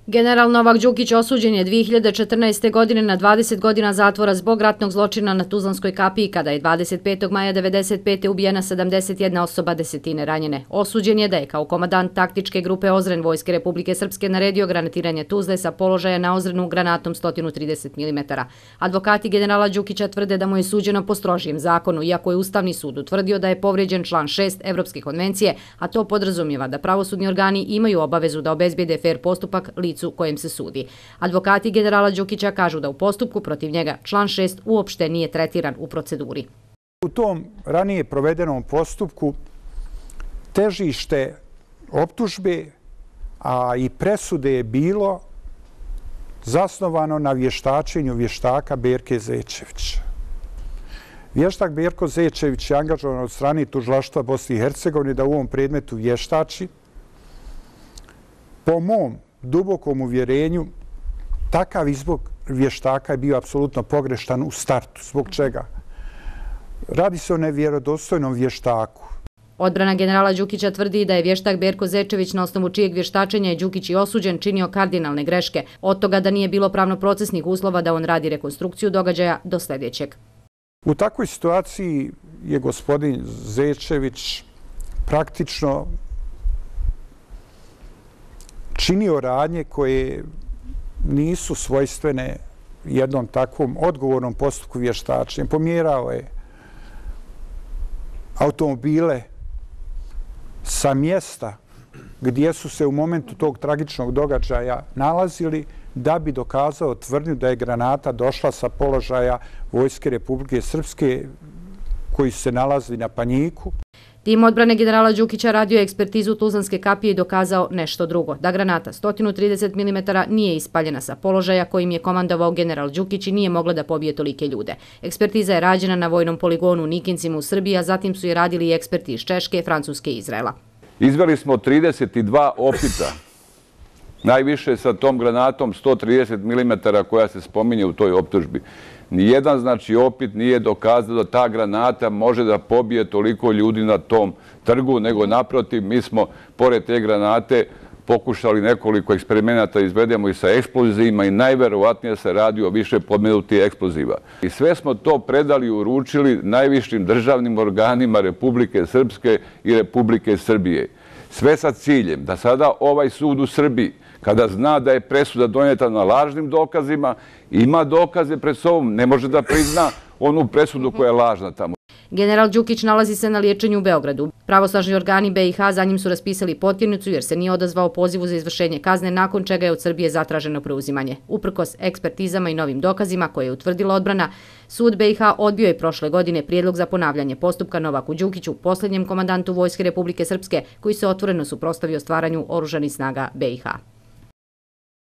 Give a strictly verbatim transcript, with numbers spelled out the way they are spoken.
General Novak Đukić osuđen je dvije hiljade četrnaeste. godine na dvadeset godina zatvora zbog ratnog zločina na Tuzlanskoj kapiji, kada je dvadeset petog maja devedeset pete ubijena sedamdeset jedna osoba, desetine ranjene. Osuđen je da je kao komandant taktičke grupe Ozren Vojske Republike Srpske naredio granatiranje Tuzle sa položaja na Ozrenu granatom sto trideset milimetara. Advokati generala Đukića tvrde da mu je suđeno po strožijem zakonu, iako je Ustavni sud utvrdio da je povrijeđen član šest Evropske konvencije, a to podrazumijeva da pravosudni organi imaju obavezu da obezbijede fer postupak licu kojem se sudi. Advokati generala Đukića kažu da u postupku protiv njega član šest uopšte nije tretiran u proceduri. U tom ranije provedenom postupku težište optužbe, a i presude je bilo zasnovano na vještačenju vještaka Berke Zečevića. Vještak Berko Zečević je angažovan od strane Tužilaštva Bosne i Hercegovine da u ovom predmetu vještači. Po mom dubokom uvjerenju, takav izbor vještaka je bio apsolutno pogrešan u startu. Zbog čega? Radi se o nevjerodostojnom vještaku. Odbrana generala Đukića tvrdi da je vještak Berko Zečević, na osnovu čijeg vještačenja je Đukić i osuđen, činio kardinalne greške. Od toga da nije bilo pravno-procesnih uslova da on radi rekonstrukciju događaja do sljedećeg. U takvoj situaciji je gospodin Zečević praktično činio radnje koje nisu svojstvene jednom takvom odgovornom postupku vještačenja. Pomjerao je automobile sa mjesta gdje su se u momentu tog tragičnog događaja nalazili da bi dokazao tvrdnju da je granata došla sa položaja Vojske Republike Srpske koji su se nalazili na Panjiku. Tim odbrane generala Đukića radio je ekspertizu Tuzlanske kapije i dokazao nešto drugo, da granata sto trideset milimetara nije ispaljena sa položaja kojim je komandovao general Đukić i nije mogla da pobije tolike ljude. Ekspertiza je rađena na vojnom poligonu u Nikincima u Srbiji, a zatim su je radili i eksperti iz Češke, Francuske i Izraela. Izveli smo trideset dva opita, najviše sa tom granatom sto trideset milimetara koja se spominje u toj optužbi. Nijedan, znači, opit nije dokazao da ta granata može da pobije toliko ljudi na tom trgu, nego naprotiv, mi smo, pored te granate, pokušali nekoliko eksperimenata izvedemo i sa eksplozivima i najverovatnije se radi o više podmenutih eksploziva. I sve smo to predali i uručili najvišim državnim organima Republike Srpske i Republike Srbije. Sve sa ciljem da sada ovaj sud u Srbiji, kada zna da je presuda donijeta na lažnim dokazima, ima dokaze pred sobom, ne može da prizna onu presudu koja je lažna tamo. General Đukić nalazi se na liječenju u Beogradu. Pravosnažni organi be i ha za njim su raspisali potjernicu jer se nije odazvao pozivu za izvršenje kazne, nakon čega je od Srbije zatraženo preuzimanje. Uprkos ekspertizama i novim dokazima koje je utvrdila odbrana, sud be i ha odbio je prošle godine prijedlog za ponavljanje postupka Novaku Đukiću, posljednjem komandantu Vojske Republike Srpske, koji se otvoreno suprotstavio stvaranju oružanih snaga be i ha.